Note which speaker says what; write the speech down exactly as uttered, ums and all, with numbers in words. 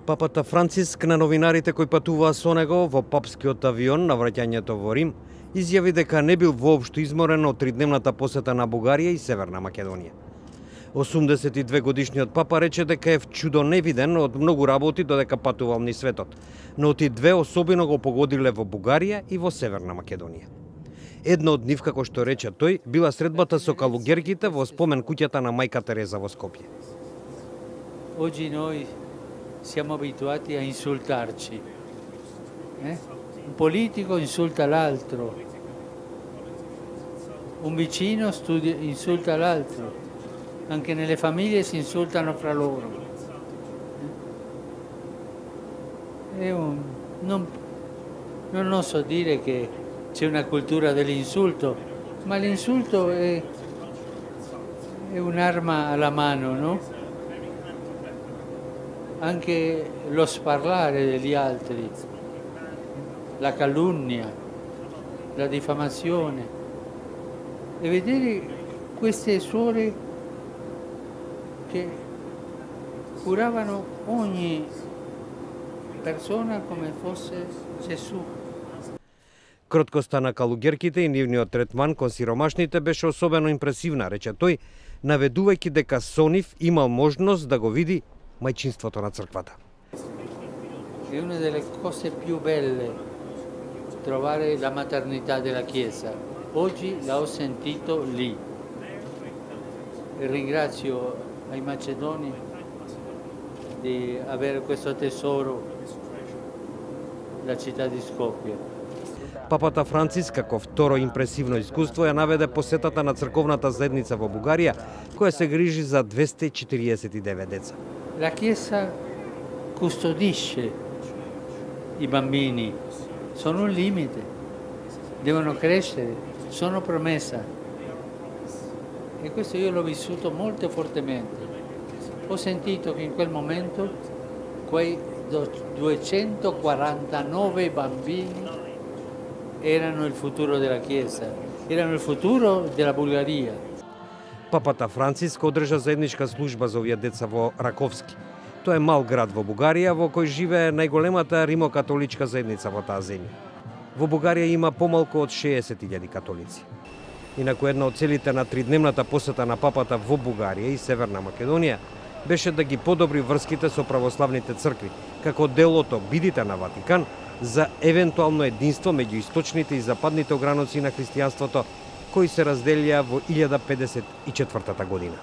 Speaker 1: Папата Франциск на новинарите кои патуваа со него во папскиот авион на враќањето во Рим изјави дека не бил воопшто изморен од тридневната посета на Бугарија и Северна Македонија. осумдесет и две годишниот папа рече дека е чудо невиден од многу работи додека патувал низ светот, но тие две особено го погодиле во Бугарија и во Северна Македонија. Едно од нив, како што рече тој, била средбата со калугерките во спомен куќата на мајка Тереза во Скопје.
Speaker 2: Oggi noi siamo abituati a insultarci. Eh? Un politico insulta l'altro, un vicino studia, insulta l'altro, anche nelle famiglie si insultano fra loro. Eh? Un, non, non oso dire che c'è una cultura dell'insulto, ma l'insulto è, è un'arma alla mano, no? Anche lo sparlare degli altri, la calunnia, la diffamazione, e vedere queste suore che curavano ogni persona come fosse Gesù.
Speaker 1: Кроткоста на калугерките и нивниот третман кон сиромашните беше особено импресивна, рече тој, наведувајќи дека со нив имал можност да го види мајчинството на црквата.
Speaker 2: È una delle cose più belle trovare la maternità della Chiesa. Oggi la ho sentito lì. E ringrazio ai macedoni di avere questo tesoro, la città di Skopje.
Speaker 1: Папата Франциск како второ импресивно искуство ја наведе посетата на црковната заедница во Бугарија, која се грижи за двесте и четириесет и девет деца.
Speaker 2: La Chiesa custodisce i bambini, sono un limite, devono crescere, sono promessa. E questo io l'ho vissuto molto fortemente. Ho sentito che in quel momento quei duecentoquarantanove bambini erano il futuro della Chiesa, erano il futuro della Bulgaria.
Speaker 1: Папата Франциск одржа заедничка служба за овие деца во Раковски. Тоа е мал град во Бугарија во кој живее најголемата римокатоличка заедница во таа земја. Во Бугарија има помалку од шеесет илјади католици. Инаку една од целите на тридневната посета на папата во Бугарија и Северна Македонија беше да ги подобри врските со православните цркви, како дел од обидите на Ватикан за евентуално единство меѓу источните и западните ограници на христијанството, кои се разделија во илјада педесет и четвртата година.